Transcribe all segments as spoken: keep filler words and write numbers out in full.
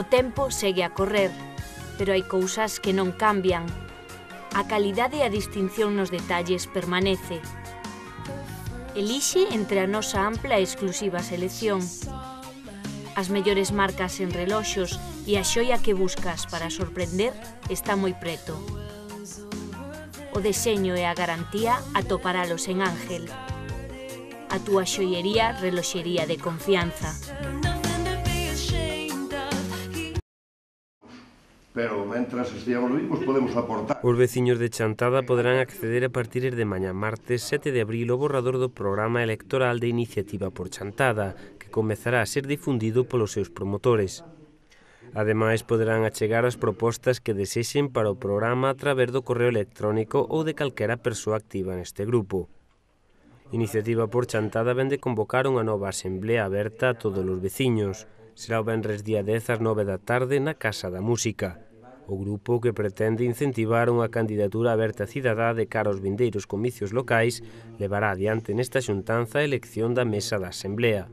O tempo segue a correr, pero hai cousas que non cambian. A calidade e a distinción nos detalles permanece. Elixe entre a nosa ampla e exclusiva selección. As mellores marcas en reloxos e a xoia que buscas para sorprender está moi preto. O deseño e a garantía atoparalos en Ángel. A túa xoiería reloxería de confianza. Pero, mentras esteamos vivos, podemos aportar. Os veciños de Chantada poderán acceder a partir de mañá martes sete de abril ao borrador do programa electoral de Iniciativa por Chantada, que comezará a ser difundido polos seus promotores. Ademais, poderán achegar as propostas que desexen para o programa a través do correo electrónico ou de calquera persoa activa neste grupo. Iniciativa por Chantada vén de convocar unha nova asamblea aberta a todos os veciños. Será o venres día dez ás nove da tarde na Casa da Música. O grupo, que pretende incentivar unha candidatura aberta cidadá de cara aos vindeiros comicios locais, levará adiante nesta xuntanza a elección da mesa da Asamblea.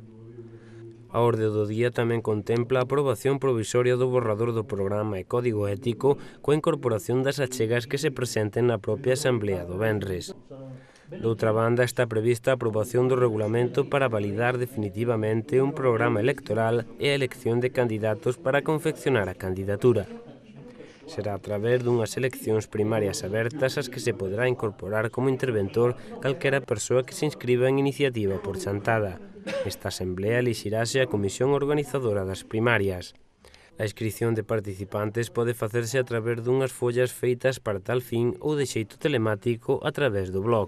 A orde do día tamén contempla a aprobación provisoria do borrador do programa e código ético coa incorporación das achegas que se presenten na propia Asamblea do venres. Doutra banda, está prevista a aprobación do regulamento para validar definitivamente un programa electoral e a elección de candidatos para confeccionar a candidatura. Será a través dunhas eleccións primarias abertas as que se poderá incorporar como interventor calquera persoa que se inscriba en Iniciativa por Chantada. Esta asamblea elixirase a comisión organizadora das primarias. A inscrición de participantes pode facerse a través dunhas follas feitas para tal fin ou de xeito telemático a través do blog.